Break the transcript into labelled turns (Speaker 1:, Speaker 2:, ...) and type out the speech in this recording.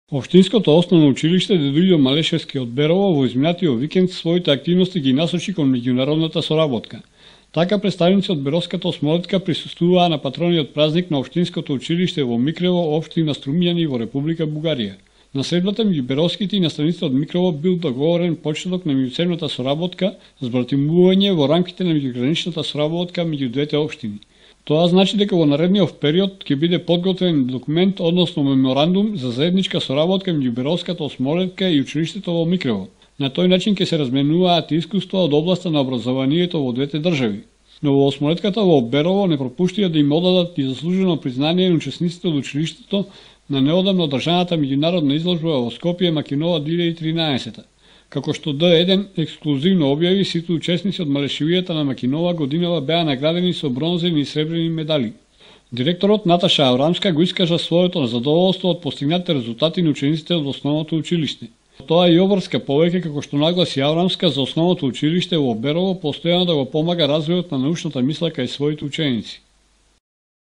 Speaker 1: Општинското основно училиште Дедојдо Малешевски од Берово во изминатиот викенд своите активности ги насочи кон меѓународната соработка. Така представници од Беровската осмолетка присуствуваа на патрониот празник на Општинското училиште во Микрево, општина Струмјани во Република Бугарија. На средбата меѓу беровските и наставниците од Микрево бил договорен почеток на меѓуцевната соработка, збратимување во рамките на меѓуграничната соработка меѓу двете општини. Тоа значи дека во наредниот период ќе биде подготвен документ, односно меморандум за заедничка соработка меѓу Беровската осмолетка и училиштето во Микрево. На тој начин ќе се разменуваат искуства од областа на образованието во двете држави. Но во осмолетката во Берово не пропуштија да им одадат и заслужено признание на учесниците од училиштето на неодамно одржаната меѓународна изложба во Скопје Макинова 2013. Како што Д1 ексклузивно објави, сите учесници од Малешевијата на Макинова годинава беа наградени со бронзени и сребрени медали. Директорот Наташа Аврамска го искажа своето задоволство од постигнатите резултати на учениците од основното училиште. Тоа и обврска повеќе, како што нагласи Аврамска, за основното училиште во Берово постојано да го помага развојот на научната мисла кај своите ученици.